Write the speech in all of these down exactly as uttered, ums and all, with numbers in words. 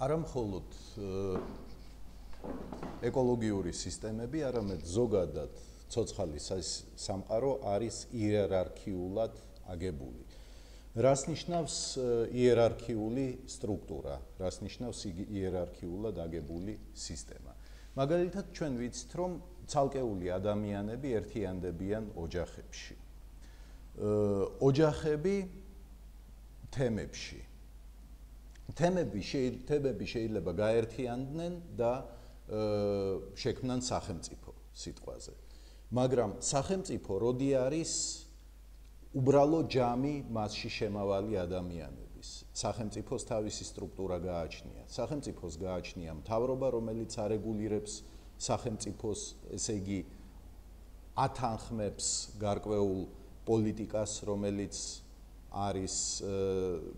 არა მხოლოდ ეკოლოგიური სისტემები, არამედ ზოგადად ცოცხალი სამყარო არის იერარქიულად აგებული. რას ნიშნავს იერარქიული სტრუქტურა, რას ნიშნავს იერარქიულად აგებული სისტემა. მაგალითად, ჩვენ ვიცით, რომ ცალკეული ადამიანები ერთიანდებიან ოჯახებში. ოჯახები თემებში. თემები შეიძლება გაერთიანდნენ და შექმნან სახელმწიფო სიტყვაზე. მაგრამ სახელმწიფო როდი არის უბრალო ჯამი მასში შემავალი ადამიანების. სახელმწიფოს თავისი სტრუქტურა გააჩნია. სახელმწიფოს გააჩნია მთავრობა, რომელიც არეგულირებს სახელმწიფოს, ესე იგი ათანხმებს გარკვეულ პოლიტიკას, რომელიც არის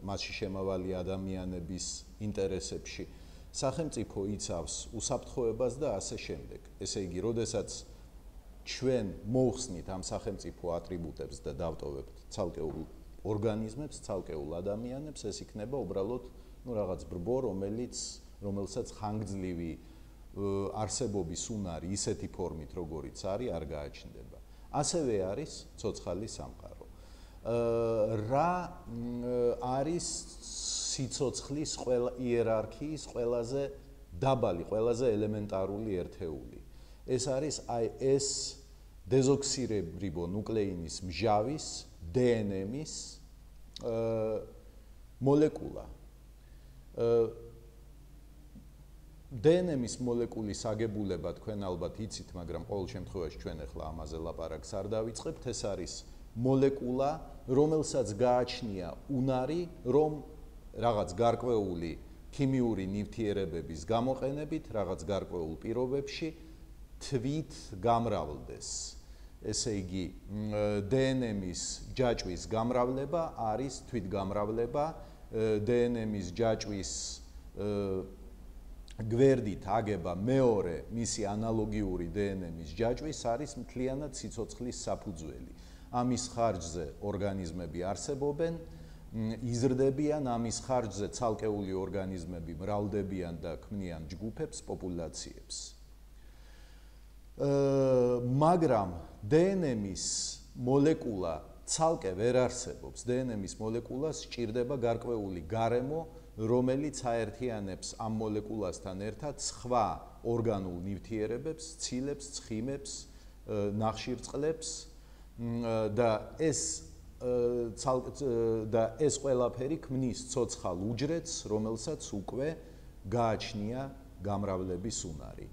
მასში შემავალი ადამიანების ინტერესებში. სახელმწიფო იცავს უსაფრთხოებას და ასე შემდეგ. ესე იგი, როდესაც ჩვენ მოვხსნით ამ სახელმწიფო ატრიბუტებს და დავტოვებთ ცალკეულ ორგანიზმებს, ცალკეულ ადამიანებს, ეს იქნება უბრალოდ ნუ რაღაც ბრბო, რომელიც რომელსაც ხანგრძლივი არსებობის უნარი ისეთი ფორმით, როგორიც არის, არ გააჩნდება. ასევე არის ცოცხალი სამყარო. რა არის სიცოცხლის იერარქიის ყველაზე დაბალი, ყველაზე ელემენტარული ერთეული. ეს არის აი ეს დეზოქსირებრიბონუკლეინის მჟავის დე ენ ემის მოლეკულა. დე ენ ემის მოლეკულის აგებულება თქვენ ალბათ იცით, მაგრამ ყოველ შემთხვევაში ჩვენ ახლა ამაზე ლაპარაკს არ დავიწყებთ. ეს არის მოლეკულა, რომელსაც გააჩნია უნარი, რომ რაღაც გარკვეული ქიმიური ნივთიერებების გამოყენებით, რაღაც გარკვეულ პირობებში თვით გამრავლდეს. ესე იგი, დე ენ ემის ჯაჭვის გამრავლება არის თვითგამრავლება, დე ენ ემის ჯაჭვის გვერდით აგება მეორე მისი ანალოგიური დე ენ ემის ჯაჭვის არის მთლიანად სიცოცხლის საფუძველი. ამის ხარჯზე ორგანიზმები არსებობენ, იზრდებიან, ამის ხარჯზე ცალკეული ორგანიზმები მრავლდებიან და ქმნიან ჯგუფებს, პოპულაციებს. მაგრამ დე ენ ემის მოლეკულა ცალკე ვერ არსებობს. დე ენ ემის მოლეკულას სჭირდება გარკვეული გარემო, რომელიც აერთიანებს ამ მოლეკულასთან ერთად სხვა ორგანულ ნივთიერებებს, ცილებს, ცხიმებს, ნახშირწყლებს და ეს და ეს ყველაფერი ქმნის ცოცხალ უჯრედს, რომელსაც უკვე გააჩნია გამრავლების უნარი.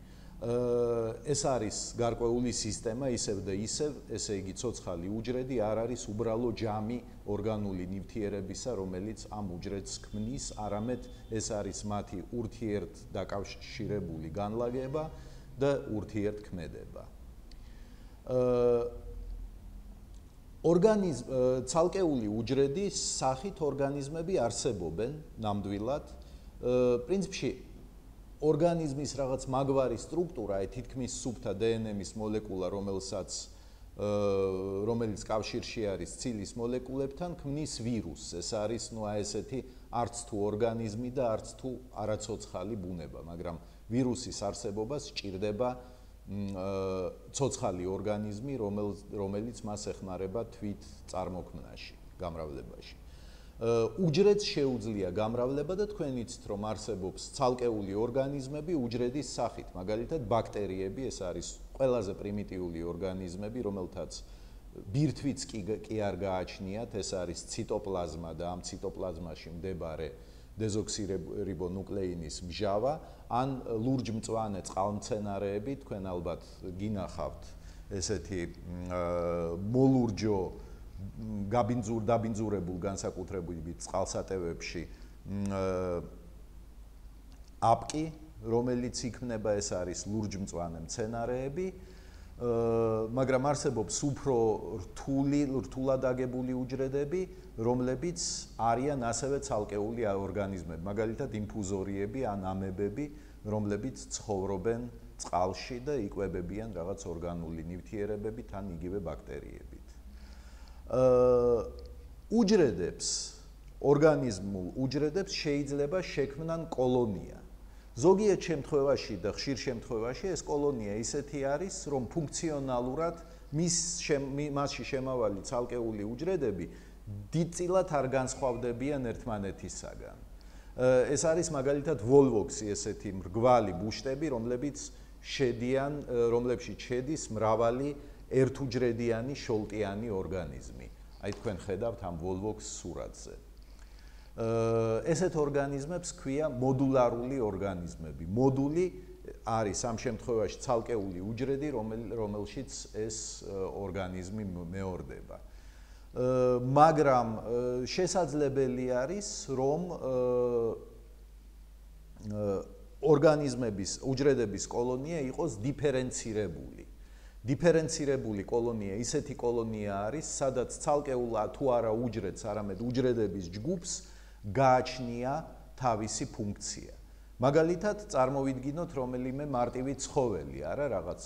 ეს არის გარკვეული სისტემა, ისევ და ისევ, ესე იგი ცოცხალი უჯრედი არ არის უბრალო ჯამი ორგანული ნივთიერებისა, რომელიც ამ უჯრედს ქმნის, არამედ ეს არის მათი ურთიერთდაკავშირებული განლაგება და ურთიერთქმედება. ორგანიზმ ცალკეული უჯრედის სახით ორგანიზმები არსებობენ ნამდვილად. პრინციპში ორგანიზმის რაღაც მაგვარი სტრუქტურა, აი თითქმის სუფთა დე ენ ემის მოლეკულა, რომელსაც რომელიც კავშირში არის ცილის მოლეკულებთან, ქმნის ვირუსს. ეს არის ნუ აი ესეთი არც თუ ორგანიზმი და არც თუ არაცოცხალი ბუნება, მაგრამ ვირუსის არსებობას სჭირდება ცოცხალი ორგანიზმი, რომელიც მას ეხმარება თვით წარმოქმნაში, გამრავლებაში. უჯრედს შეუძლია გამრავლება და თქვენ იცით, რომ არსებობს ცალკეული ორგანიზმები უჯრედის სახით, მაგალითად ბაქტერიები, ეს არის ყველაზე პრიმიტიული ორგანიზმები, რომელთაც ბირთვიც კი არ გააჩნიათ, ეს არის ციტოპლაზმა და ამ ციტოპლაზმაში მდებარე დეზოქსირებრიბონუკლეინის მჟავა, ან ლურჯმწვანე წყალმცენარეები, თქვენ ალბათ გინახავთ ესეთი მოლურჯო გაბინძურ დაბინძურებულ განსაკუთრებით წყალსატევებში აპკი, რომელიც იქმნება, ეს არის ლურჯმწვანე მცენარეები, მაგრამ არსებობს უფრო რთული, რთულად აგებული უჯრედები, რომლებიც არიან ასევე ცალკეული ორგანიზმები, მაგალითად ინფუზორიები ან ამებები, რომლებიც ცხოვრობენ წყალში და იკვებებიან რაღაც ორგანული ნივთიერებებით ან იგივე ბაქტერიებით. უჯრედებს, ორგანიზმულ უჯრედებს შეიძლება შექმნან კოლონია. ზოგიერთ შემთხვევაში და ხშირ შემთხვევაში ეს კოლონია ისეთი არის, რომ ფუნქციონალურად მის მასში შემავალი ცალკეული უჯრედები დიდწილად არ განსხვავდებიან ერთმანეთისაგან. ეს არის მაგალითად ვოლვოქსი, ესეთი მრგვალი ბუშტები, რომლებიც შედიან, რომლებშიც შედის მრავალი ერთუჯრედიანი შოლტიანი ორგანიზმი. აი თქვენ ხედავთ ამ ვოლვოქს სურათზე. ესეთ ორგანიზმებს ქვია მოდულარული ორგანიზმები. მოდული არის ამ შემთხვევაში ცალკეული უჯრედი, რომელშიც ეს ორგანიზმი მეორდება. მაგრამ შესაძლებელი არის, რომ ორგანიზმების, უჯრედების კოლონია იყოს დიფერენცირებული. დიფერენცირებული კოლონია ისეთი კოლონია არის, სადაც ცალკეულ თუ არა უჯრედს, არამედ უჯრედების ჯგუფს გააჩნია თავისი ფუნქცია. მაგალითად, წარმოვიდგინოთ რომელიმე მარტივი ცხოველი, არა რაღაც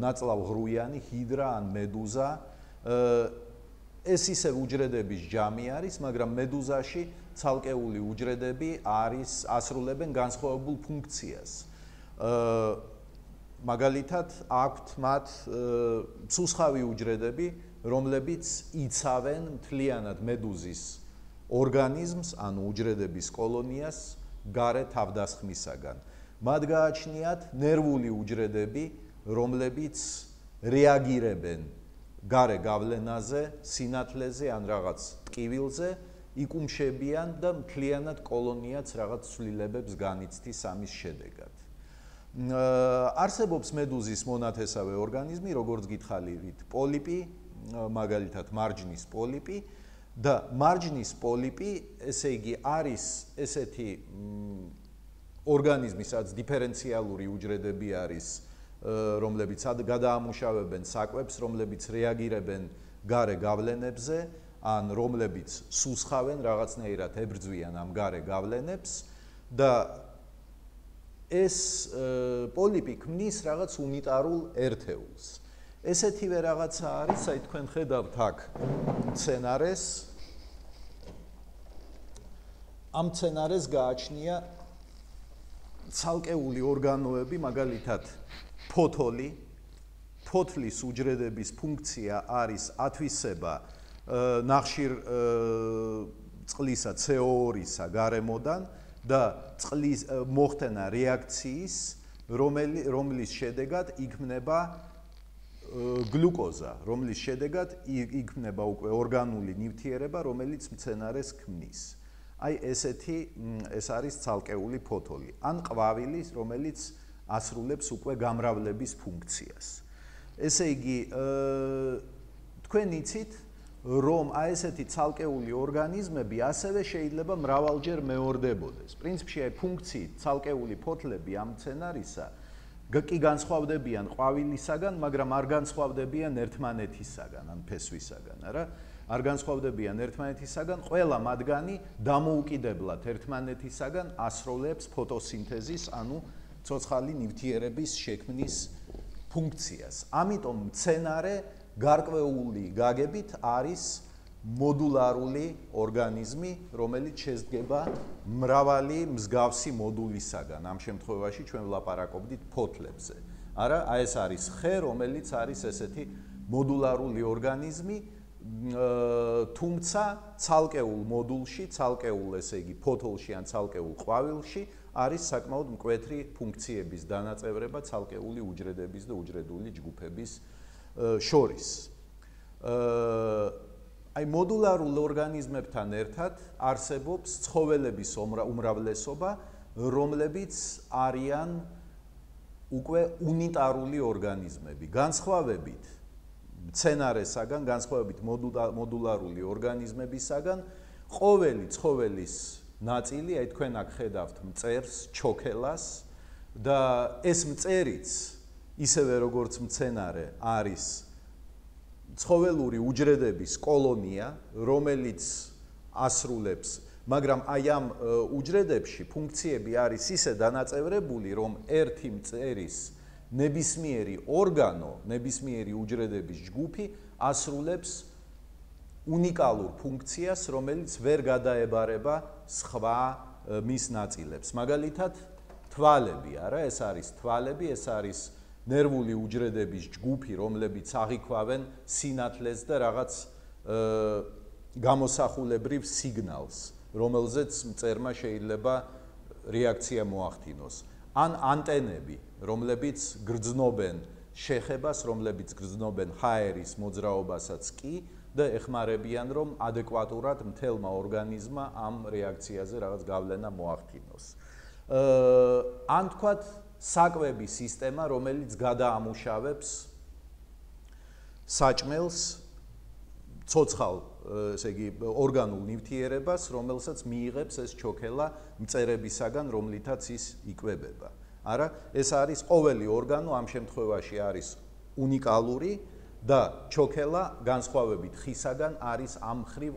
ნაწლავღრუიანი ჰიდრა ან მედუზა. ეს ისე უჯრედების ჯამი არის, მაგრამ მედუზაში ცალკეული უჯრედები არის ასრულებენ განსხვავებულ ფუნქციას. მაგალითად, აქვთ მათ ცუცხავი უჯრედები, რომლებიც იცავენ მთლიანად მედუზის ორგანიზმს, ანუ უჯრედების კოლონიას გარე თავდასხმისაგან. მათ გააჩნიათ ნერვული უჯრედები, რომლებიც რეაგირებენ გარე გავლენაზე, სინათლეზე ან რაღაც ტკივილზე, იკუმშებიან და მთლიანად კოლონიაც რაღაც ცვლილებებს განიცდის ამის შედეგად. არსებობს მედუზის მონათესავე ორგანიზმი, როგორც გითხარით, პოლიპი, მაგალითად მარჯნის პოლიპი და მარჯნის პოლიპი, ესე იგი, არის ესეთი ორგანიზმი, სადაც დიფერენციალური უჯრედები არის, რომლებიც გადაამუშავებენ საკვებს, რომლებიც რეაგირებენ გარე გავლენებზე, ან რომლებიც სუსხავენ, რაღაცნაირად ებრძვიან ამ გარე გავლენებს და ეს პოლიპი ქმნის რაღაც უნიტარულ ერთეულს. ესეთივე რაღაცა არის, აი თქვენ ხედავთ აქ მცენარეს. ამ მცენარეს გააჩნია ცალკეული ორგანოები, მაგალითად ფოთოლი. ფოთლის უჯრედების ფუნქცია არის ათვისება ნახშირ წყლისა ცე ო ორისა გარემოდან და წყლის მოხდენა რეაქციის, რომლის შედეგად იქმნება გლუკოზა, რომლის შედეგად იქმნება უკვე ორგანული ნივთიერება, რომელიც მცენარეს ქმნის. აი ესეთი ეს არის ცალკეული ფოთოლი. ან ყვავილი, რომელიც ასრულებს უკვე გამრავლების ფუნქციას. ესე იგი, თქვენ იცით, რომ აი ესეთი ცალკეული ორგანიზმები ასევე შეიძლება მრავალჯერ მეორდებოდეს. პრინციპში აი ფუნქციით ცალკეული ფოთლები ამ მცენარისა კი განსხვავდებიან ყვავილისაგან, მაგრამ არ განსხვავდებიან ერთმანეთისაგან, ან ფესვისაგან, არა? არ განსხვავდებიან ერთმანეთისაგან, ყველა მათგანი დამოუკიდებლად ერთმანეთისაგან ასრულებს ფოტოსინთეზის, ანუ ცოცხალი ნივთიერების შექმნის ფუნქციას. ამიტომ მცენარე გარკვეული გაგებით არის მოდულარული ორგანიზმი, რომელიც შედგება მრავალი მსგავსი მოდულისაგან. ამ შემთხვევაში ჩვენ ვლაპარაკობდით ფოთლებზე. არა, აი ეს არის ხე, რომელიც არის ესეთი მოდულარული ორგანიზმი, თუმცა ცალკეულ მოდულში, ცალკეულ, ესე იგი, ფოთოლში ან ცალკეულ ყვავილში არის საკმაოდ მკვეთრი ფუნქციების დანაწევრება ცალკეული უჯრედების და უჯრედული ჯგუფების შორის. აი მოდულარულ ორგანიზმებთან ერთად არსებობს ცხოველების უმრავლესობა, რომლებიც არიან უკვე უნიტარული ორგანიზმები. განსხვავებით მცენარესაგან, განსხვავებით მოდულარული ორგანიზმებისაგან, ყოველი ცხოველის ნაწილი, აი თქვენ აქ ხედავთ მწერს, ჩოქელას და ეს მწერიც ისევე როგორც მცენარე არის ცხოველური უჯრედების კოლონია, რომელიც ასრულებს, მაგრამ აი ამ უჯრედებში ფუნქციები არის ისე დანაწევრებული, რომ ერთი მწერის ნებისმიერი ორგანო, ნებისმიერი უჯრედების ჯგუფი ასრულებს უნიკალურ ფუნქციას, რომელიც ვერ გადაებარება სხვა მის ნაწილებს. მაგალითად, თვალები, არა, ეს არის თვალები, ეს არის ნერვული უჯრედების ჯგუფი, რომლებიც აღიქვავენ სინათლეს და რაღაც გამოსახულებრივ სიგნალს, რომელზეც მწერმა შეიძლება რეაქცია მოახდინოს. ან ანტენები, რომლებიც გრძნობენ შეხებას, რომლებიც გრძნობენ ჰაერის მოძრაობასაც კი და ეხმარებიან, რომ ადეკვატურად მთელმა ორგანიზმმა ამ რეაქციაზე რაღაც გავლენა მოახდინოს. ან თქვათ საკვების სისტემა, რომელიც გადაამუშავებს საჭმელს, ცოცხალ, ესე იგი, ორგანულ ნივთიერებას, რომელსაც მიიღებს ეს ჩოქელა მწერებისაგან, რომლითაც ის იკვებება. არა, ეს არის ყოველი ორგანო ამ შემთხვევაში არის უნიკალური და ჩოქელა განსხვავებით ხისაგან არის ამ მხრივ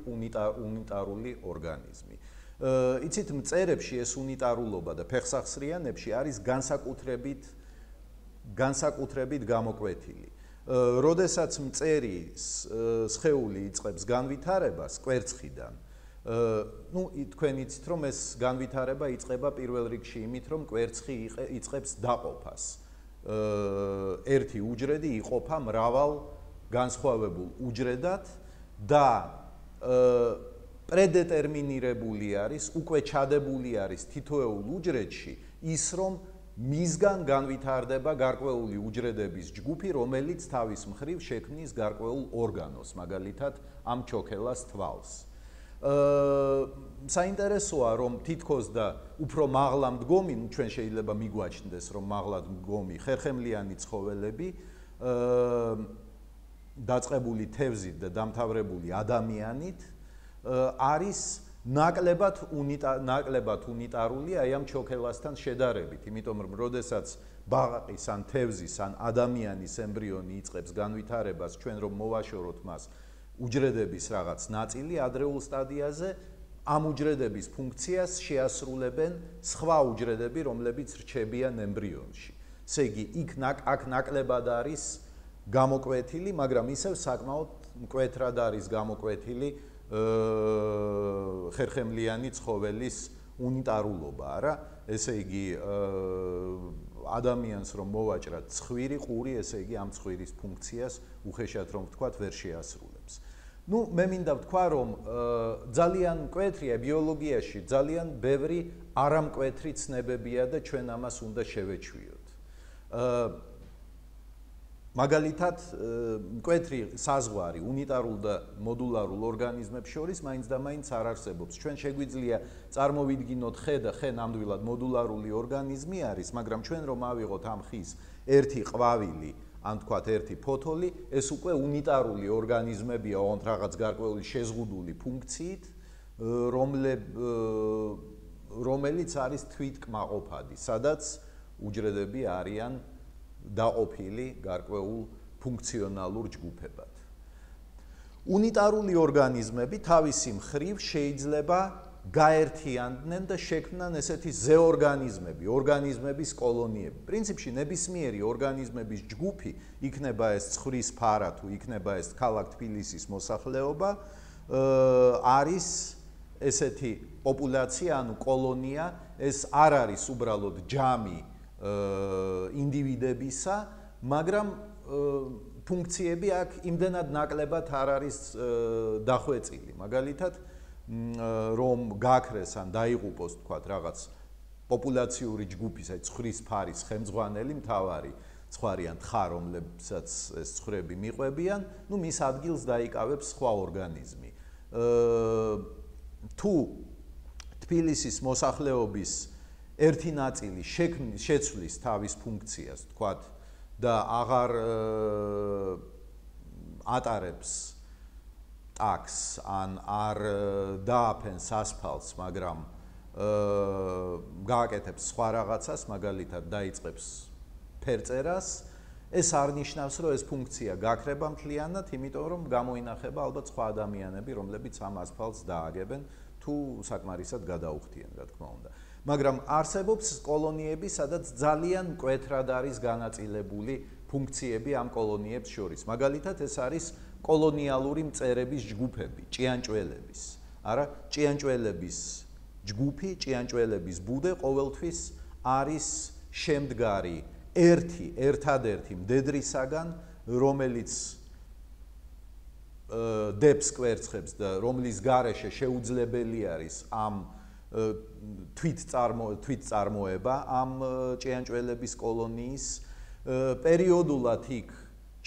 უნიტარული ორგანიზმი. იცით, მწერებში ეს უნიტარულობა და ფეხსახსრიანებში არის განსაკუთრებით განსაკუთრებით გამოკვეთილი. როდესაც მწერი სხეული იწყებს განვითარებას კვერცხიდან, ну, თქვენ იცით, რომ ეს განვითარება იწყება პირველ რიგში იმით, რომ კვერცხი იწყებს დაყოფას. ერთი უჯრედი იყოფა მრავალ განსხვავებულ უჯრედად და პრედეტერმინირებული არის, უკვე ჩადებული არის თითოეულ უჯრედში ის, რომ მისგან განვითარდება გარკვეული უჯრედების ჯგუფი, რომელიც თავის მხრივ შექმნის გარკვეულ ორგანოს, მაგალითად ამ ჩოქელას თვალს. საინტერესოა, რომ თითქოს და უფრო მაღლა მდგომი, ну ჩვენ შეიძლება მიგვაჩნდეს, რომ მაღლა მდგომი ხერხემლიანი ცხოველები დაწყებული თევზით და დამთავრებული ადამიანით არის ნაკლებად ნაკლებად უნიტარული აი ამ ჩოქელასთან შედარებით, იმიტომ რომ როდესაც ბაყაყის ან თევზის ან ადამიანის ემბრიონი იწყებს განვითარებას, ჩვენ რომ მოვაშოროთ მას უჯრედების რაღაც ნაწილი ადრეულ სტადიაზე, ამ უჯრედების ფუნქციას შეასრულებენ სხვა უჯრედები, რომლებიც რჩებიან ემბრიონში. ესე იგი, იქ აქ ნაკლებად არის გამოკვეთილი, მაგრამ ისევ საკმაოდ მკვეთრად არის გამოკვეთილი ხერხემლიანი ცხოველის უნიტარულობა, არა? ესე იგი, ადამიანს რომ მოვაჭრათ ცხვირი, ყური, ესე იგი ამ ცხვირის ფუნქციას უხეშად რომ ვთქვათ, ვერ შეასრულებს. ну, მე მინდა ვთქვა, რომ ძალიან მკვეთრია ბიოლოგიაში, ძალიან ბევრი არამკვეთრი ცნებებია და ჩვენ ამას უნდა შევეჩვიოთ. მაგალითად, მკვეთრი საზღვარი უნიტარულ და მოდულარულ ორგანიზმებს შორის მაინც და მაინც არ არსებობს. ჩვენ შეგვიძლია წარმოვიდგინოთ ხე და ხე ნამდვილად მოდულარული ორგანიზმი არის, მაგრამ ჩვენ რომ ავიღოთ ამ ხის ერთი ყვავილი, ან თქვათ ერთი ფოთოლი, ეს უკვე უნიტარული ორგანიზმებია, ოღონდ რაღაც გარკვეული შეზღუდული ფუნქციით, რომელიც არის თვითკმაყოფადი, სადაც უჯრედები არიან დაყოფილი გარკვეულ ფუნქციონალურ ჯგუფებად. უნიტარული ორგანიზმები თავისი მხრივ შეიძლება გაერთიანდნენ და შექმნან ესეთი ზეორგანიზმები, ორგანიზმების კოლონიები. პრინციპში ნებისმიერი ორგანიზმების ჯგუფი, იქნება ეს ცხვრის ფარა თუ იქნება ეს ქალაქ თბილისის მოსახლეობა, არის ესეთი პოპულაცია, ანუ კოლონია, ეს არ არის უბრალოდ ჯამი ინდივიდებისა, მაგრამ ფუნქციები აქ იმდენად ნაკლებად არ არის დახვეწილი. მაგალითად, რომ გაქრეს ან დაიღუპოს, თქვათ, რაღაც პოპულაციური ჯგუფის, აი ცხვრის ფარის ხელმძღვანელი, მთავარი ცხვარი ან თხა, რომლებსაც ეს ცხრები მიყვებიან, ну მის ადგილს დაიკავებს სხვა ორგანიზმი. თუ თბილისის მოსახლეობის ერთი ნაწილი შეცვლის თავის ფუნქციას, თქვათ, და აღარ ატარებს ტაქს ან არ დააფენს ასფალტს, მაგრამ გააკეთებს სხვა რაღაცას, მაგალითად დაიწყებს ფერწერას, ეს არ ნიშნავს, რომ ეს ფუნქცია გაქრება მთლიანად, იმიტომ რომ გამოინახება ალბათ სხვა ადამიანები, რომლებიც ამ ასფალტს დააგებენ თუ საკმარისად გადაუხდიან, რა თქმა უნდა. მაგრამ არსებობს კოლონიები, სადაც ძალიან მკვეთრად არის განაწილებული ფუნქციები ამ კოლონიებს შორის. მაგალითად, ეს არის კოლონიალური მწერების ჯგუფები, ჭიანჭველების. არა, ჭიანჭველების ჯგუფი, ჭიანჭველების ბუდე ყოველთვის არის შემდგარი ერთი, ერთადერთი მდედრისაგან, რომელიც დებს კვერცხებს და რომლის გარეშე შეუძლებელი არის ამ თვით წარმოება ამ ჭიანჭველების კოლონიის პერიოდულად იქ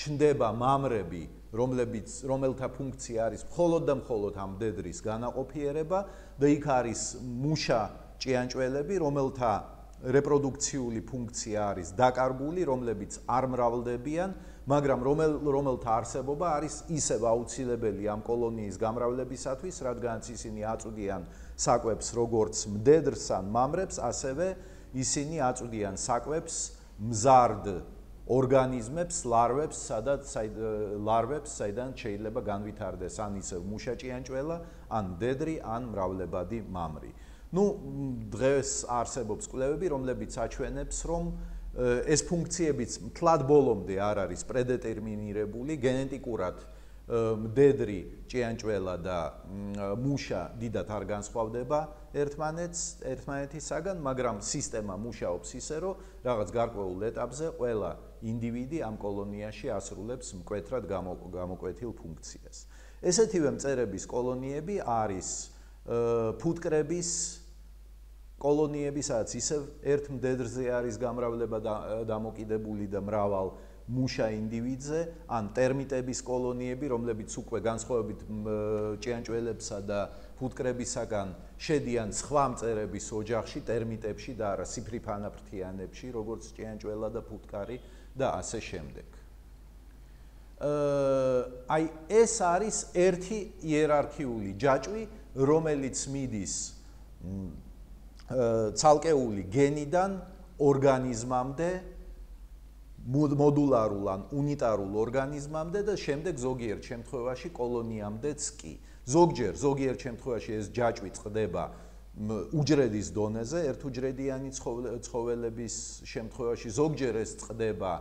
ჩნდება მამრები, რომლებიც რომელთა ფუნქცია არის მხოლოდ და მხოლოდ ამ მდედრის განაყოფიერება და იქ არის მუშა ჭიანჭველები, რომელთა რეპროდუქციული ფუნქცია არის დაკარგული, რომლებიც არ მრავლდებიან, მაგრამ რომელთა არსებობა არის ისევ აუცილებელი ამ კოლონიის გამრავლებისათვის, რადგანაც ისინი აწვდიან საკვებს როგორც მდედრს ან მამრებს, ასევე ისინი აწვდიან საკვებს მზარდ ორგანიზმებს, ლარვებს, სადაც ლარვებს, საიდან შეიძლება განვითარდეს ან ისევ მუშა ჭიანჭველა, ან მდედრი, ან მრავლებადი მამრი. ნუ დღეს არსებობს კვლევები, რომლებიც აჩვენებს, რომ ეს ფუნქციებიც მთლად ბოლომდე არ არის პრედეტერმინირებული, გენეტიკურად მდედრი ჭიანჭველა და მუშა დიდად არ განსხვავდება ერთმანეთს, ერთმანეთისაგან, მაგრამ სისტემა მუშაობს ისე, რომ რაღაც გარკვეულ ეტაპზე ყველა ინდივიდი ამ კოლონიაში ასრულებს მკვეთრად გამოკვეთილ ფუნქციას. ესეთივე მწერების კოლონიები არის ფუტკრების კოლონიები, სადაც ისევ ერთ მდედრზე არის გამრავლება დამოკიდებული და მრავალ მუშა ინდივიდზე, ან ტერმიტების კოლონიები, რომლებიც უკვე განსხვავებით ჭიანჭველებსა და ფუტკრებისაგან შედიან სხვა მწერების ოჯახში, ტერმიტებში და არა სიფრიფანაფრთიანებში, როგორც ჭიანჭველა და ფუტკარი და ასე შემდეგ. აი ეს არის ერთი იერარქიული ჯაჭვი, რომელიც მიდის ცალკეული გენიდან ორგანიზმამდე, მოდულარულ ან უნიტარულ ორგანიზმამდე და შემდეგ ზოგიერთ შემთხვევაში კოლონიამდეც კი. ზოგჯერ, ზოგიერთ შემთხვევაში ეს ჯაჭვი წყდება უჯრედის დონეზე, ერთუჯრედიანი ცხოველების შემთხვევაში, ზოგჯერ ეს წყდება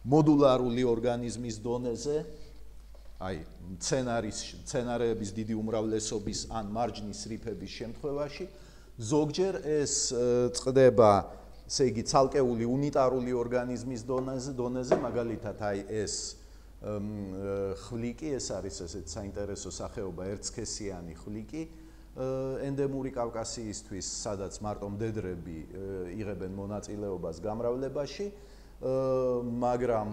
მოდულარული ორგანიზმის დონეზე, აი მცენარეების დიდი უმრავლესობის ან მარჯნის რიფების შემთხვევაში, ზოგჯერ ეს წყდება, ესე იგი, ცალკეული უნიტარული ორგანიზმის დონეზე, დონეზე, მაგალითად, აი ეს ხვლიკი, ეს არის ესეთ საინტერესო სახეობა, ერთსქესიანი ხვლიკი, ენდემური კავკასიისთვის, სადაც მარტო მდედრები იღებენ მონაწილეობას გამრავლებაში, მაგრამ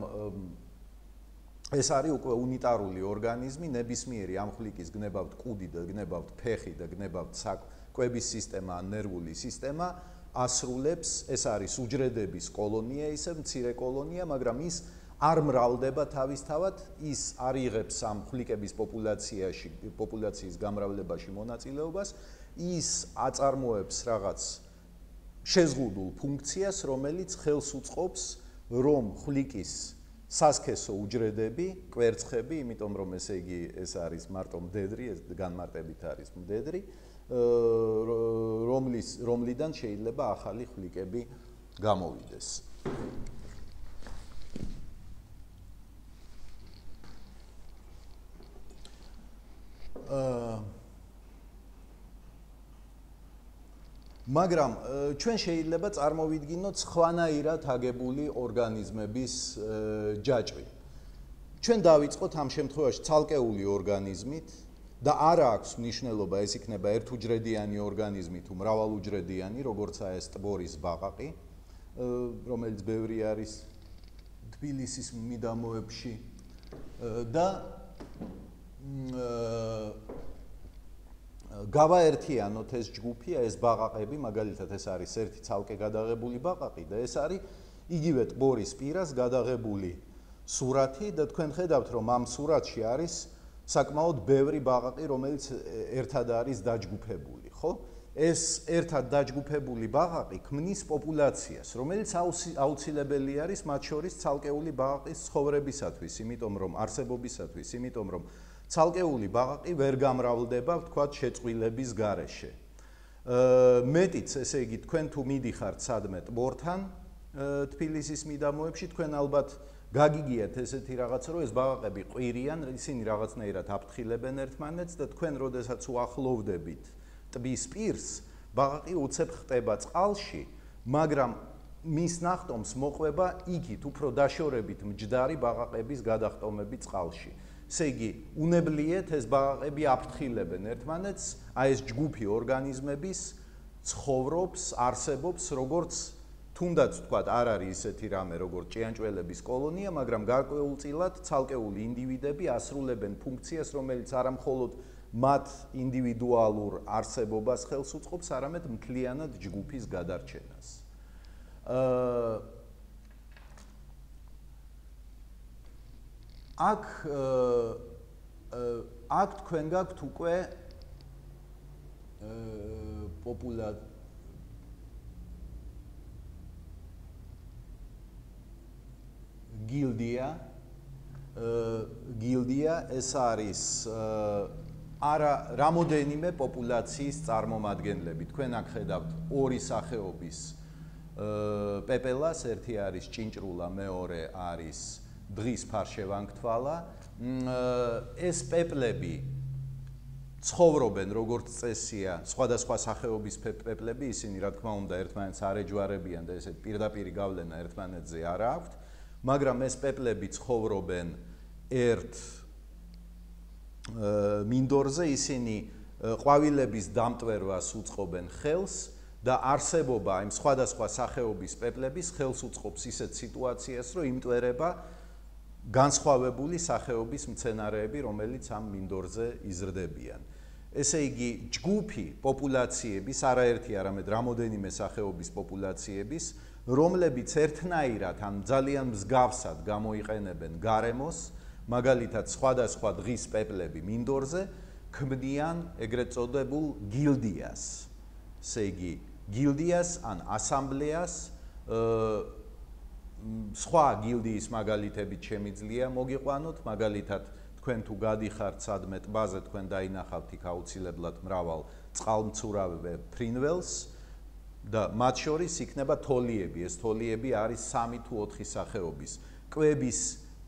ეს არის უკვე უნიტარული ორგანიზმი, ნებისმიერი ამ ხვლიკის გნებავთ კუდი და გნებავთ ფეხი და გნებავთ კვების სისტემა ან ნერვული სისტემა, ასრულებს, ეს არის უჯრედების კოლონია, ისე მცირე კოლონია, მაგრამ ის არ მრავლდება თავისთავად, ის არ იღებს ამ ხვლიკების პოპულაციაში, პოპულაციის გამრავლებაში მონაწილეობას, ის აწარმოებს რაღაც შეზღუდულ ფუნქციას, რომელიც ხელს უწყობს, რომ ხვლიკის სასქესო უჯრედები, კვერცხები, იმიტომ რომ ესე იგი ეს არის მარტო მდედრი, ეს განმარტებით არის მდედრი, რომლის რომლიდან შეიძლება ახალი ხვლიკები გამოვიდეს. მაგრამ ჩვენ შეიძლება წარმოვიდგინოთ სხვანაირად აგებული ორგანიზმების ჯაჭვი. ჩვენ დავიწყოთ ამ შემთხვევაში ცალკეული ორგანიზმით და არა აქვს მნიშვნელობა ეს იქნება ერთუჯრედიანი ორგანიზმი თუ მრავალუჯრედიანი, როგორცაა ეს ტბორის ბაყაყი, რომელიც ბევრი არის თბილისის მიდამოებში და გავაერთიანოთ ეს ჯგუფი, ეს ბაყაყები, მაგალითად ეს არის ერთი ცალკე გადაღებული ბაყაყი და ეს არის იგივე ტბორის პირას გადაღებული სურათი და თქვენ ხედავთ რომ ამ სურათში არის საკმაოდ ბევრი ბაყაყი, რომელიც ერთად არის დაჯგუფებული, ხო? ეს ერთად დაჯგუფებული ბაყაყი ქმნის პოპულაციას, რომელიც აუცილებელი არის მათ შორის ცალკეული ბაყაყის ცხოვრებისათვის, იმიტომ რომ არსებობისათვის, იმიტომ რომ ცალკეული ბაყაყი ვერ გამრავლდება, ვთქვათ, შეწყვილების გარეშე. მეტიც, ესე იგი, თქვენ თუ მიდიხართ სადმე ტბორთან, თბილისის მიდამოებში, თქვენ ალბათ გაგიგიათ ესეთი რაღაც, რომ ეს ბაყაყები ყვირიან, ისინი რაღაცნაირად აფრთხილებენ ერთმანეთს და თქვენ, როდესაც უახლოვდებით ტბის პირს, ბაყაყი უცებ ხტება წყალში, მაგრამ მის ნახტომს მოყვება იქით უფრო დაშორებით მჯდარი ბაყაყების გადახტომები წყალში. ესე იგი, უნებლიეთ ეს ბაყაყები აფრთხილებენ ერთმანეთს, აი ეს ჯგუფი ორგანიზმების ცხოვრობს, არსებობს, როგორც თუნდაც თქვათ, არ არის ისეთი რამე, როგორც ჭიანჭველების კოლონია, მაგრამ გარკვეულწილად ცალკეული ინდივიდები ასრულებენ ფუნქციას, რომელიც არა მხოლოდ მათ ინდივიდუალურ არსებობას ხელს უწყობს, არამედ მთლიანად ჯგუფის გადარჩენას. აქ აქ თქვენ გაქვთ უკვე პოპულა გილდია გილდია ეს არის არა რამოდენიმე პოპულაციის წარმომადგენლები. თქვენ აქ ხედავთ ორი სახეობის პეპელას, ერთი არის ჭინჭრულა, მეორე არის დღის ფარშევანგთვალა. ეს პეპლები ცხოვრობენ როგორც წესია, სხვადასხვა სახეობის პეპლები, ისინი რა თქმა უნდა ერთმანეთს არ ეჯვარებიან და ესეთ პირდაპირი გავლენა ერთმანეთზე არ აქვთ, მაგრამ ეს პეპლები ცხოვრობენ ერთ მინდორზე, ისინი ყვავილების დამტვერვას უწყობენ ხელს და არსებობა იმ სხვადასხვა სახეობის პეპლების ხელს უწყობს ისეთ სიტუაციას, რომ იმტვერება განსხვავებული სახეობის მცენარეები, რომელიც ამ მინდორზე იზრდებიან. ესე იგი, ჯგუფი პოპულაციების, არაერთი, არამედ რამოდენიმე სახეობის პოპულაციების, რომლებიც ერთნაირად ან ძალიან მსგავსად გამოიყენებენ გარემოს, მაგალითად სხვადასხვა დღის პეპლები მინდორზე, ქმნიან ეგრეთ წოდებულ გილდიას. ესე იგი, გილდიას ან ასამბლეას სხვა გილდიის მაგალითებით შემიძლია მოგიყვანოთ, მაგალითად თქვენ თუ გადიხართ სადმე ტბაზე, თქვენ დაინახავთ იქ აუცილებლად მრავალ წყალმცურავ ფრინველს და მათ შორის იქნება თოლიები. ეს თოლიები არის სამი თუ ოთხი სახეობის. კვების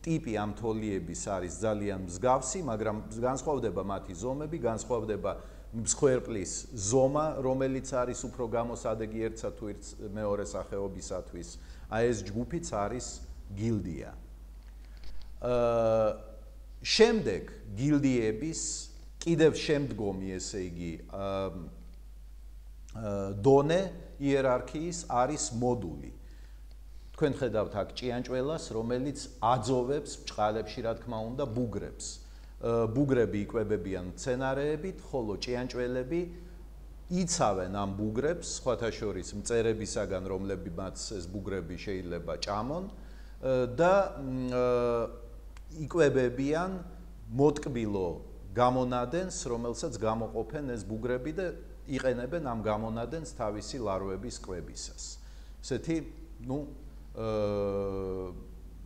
ტიპი ამ თოლიების არის ძალიან მსგავსი, მაგრამ განსხვავდება მათი ზომები, განსხვავდება მსხვერპლის ზომა, რომელიც არის უფრო გამოსადეგი ერთსა თუ მეორე სახეობისათვის. აი ეს ჯგუფიც არის გილდია. შემდეგ გილდიების კიდევ შემდგომი, ესე იგი, დონე იერარქიის არის მოდული. თქვენ ხედავთ აქ ჭიანჭველას, რომელიც აძოვებს ბჭყალებში, რა თქმა უნდა, ბუგრებს. ბუგრები იკვებებიან მცენარეებით, ხოლო ჭიანჭველები იცავენ ამ ბუგრებს, სხვათა შორის მწერებისაგან, რომლებიც ეს ბუგრები შეიძლება ჭამონ და იკვებებიან მოტკბილო გამონადენს, რომელსაც გამოყოფენ ეს ბუგრები და იყენებენ ამ გამონადენს თავისი ლარვების კვებისას. ესეთი, ну,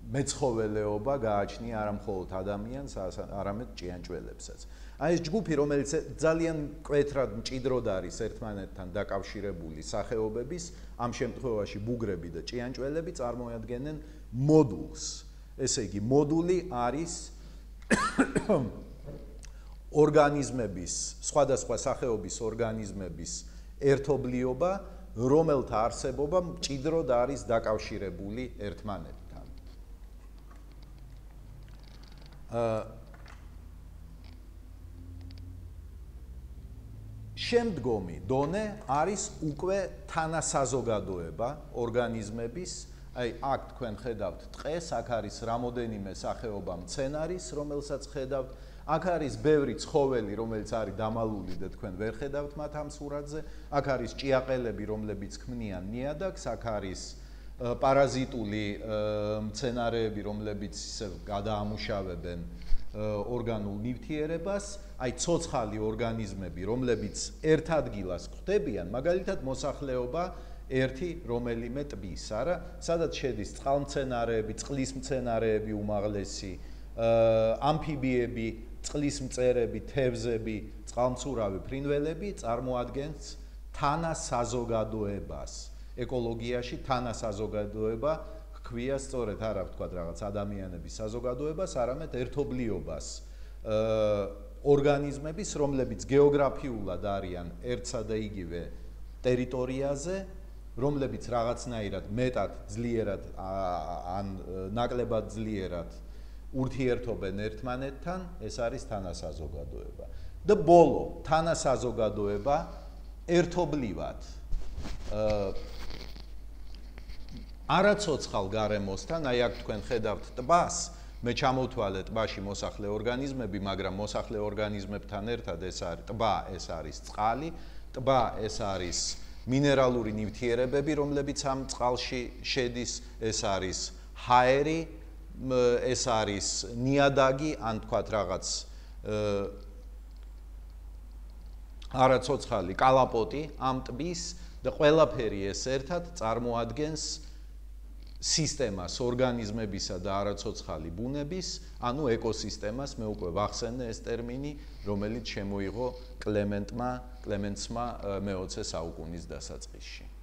მეცხოველეობა გააჩნია არა მხოლოდ ადამიანს, არამედ ჭიანჭველებსაც. აი ეს ჯგუფი, რომელიც ძალიან მკვეთრად მჭიდროდ არის ერთმანეთთან დაკავშირებული სახეობების, ამ შემთხვევაში ბუგრები და ჭიანჭველები წარმოადგენენ მოდულს. ესე იგი, მოდული არის ორგანიზმების, სხვადასხვა სახეობის ორგანიზმების ერთობლიობა, რომელთა არსებობა მჭიდროდ არის დაკავშირებული ერთმანეთთან. შემდგომი დონე არის უკვე თანასაზოგადოება ორგანიზმების, აი აქ თქვენ ხედავთ ტყეს, აქ არის რამოდენიმე სახეობა მცენარის, რომელსაც ხედავთ, აქ არის ბევრი ცხოველი, რომელიც არის დამალული და თქვენ ვერ ხედავთ მათ ამ სურათზე, აქ არის ჭიაყელები, რომლებიც ქმნიან ნიადაგს, აქ არის პარაზიტული მცენარეები, რომლებიც ისე გადაამუშავებენ ორგანულ ნივთიერებას, აი ცოცხალი ორგანიზმები, რომლებიც ერთ ადგილას ხვდებიან, მაგალითად მოსახლეობა ერთი რომელიმე ტბის, არა, სადაც შედის წყალმცენარეები, წყლის მცენარეები უმაღლესი, ამფიბიები, წყლის მწერები, თევზები, წყალმცურავი ფრინველები წარმოადგენს თანასაზოგადოებას. ეკოლოგიაში თანასაზოგადოება ჰქვია სწორედ არა ვთქვათ რაღაც ადამიანების საზოგადოებას, არამედ ერთობლიობას ორგანიზმების, რომლებიც გეოგრაფიულად არიან ერთსა და იგივე ტერიტორიაზე, რომლებიც რაღაცნაირად მეტად ძლიერად ან ნაკლებად ძლიერად ურთიერთობენ ერთმანეთთან, ეს არის თანასაზოგადოება. და ბოლო, თანასაზოგადოება ერთობლივად არაცოცხალ გარემოსთან, აი აქ თქვენ ხედავთ ტბას, მე ჩამოვთვალე ტბაში მოსახლე ორგანიზმები, მაგრამ მოსახლე ორგანიზმებთან ერთად ეს არის ტბა, ეს არის წყალი, ტბა ეს არის მინერალური ნივთიერებები, რომლებიც ამ წყალში შედის, ეს არის ჰაერი, ეს არის ნიადაგი, ან თქვათ რაღაც არაცოცხალი კალაპოტი ამ ტბის და ყველაფერი ეს ერთად წარმოადგენს სისტემას ორგანიზმებისა და არაცოცხალი ბუნების, ანუ ეკოსისტემას, მე უკვე ვახსენე ეს ტერმინი, რომელიც შემოიღო კლემენტმა, კლემენცმა მეოცე საუკუნის დასაწყისში.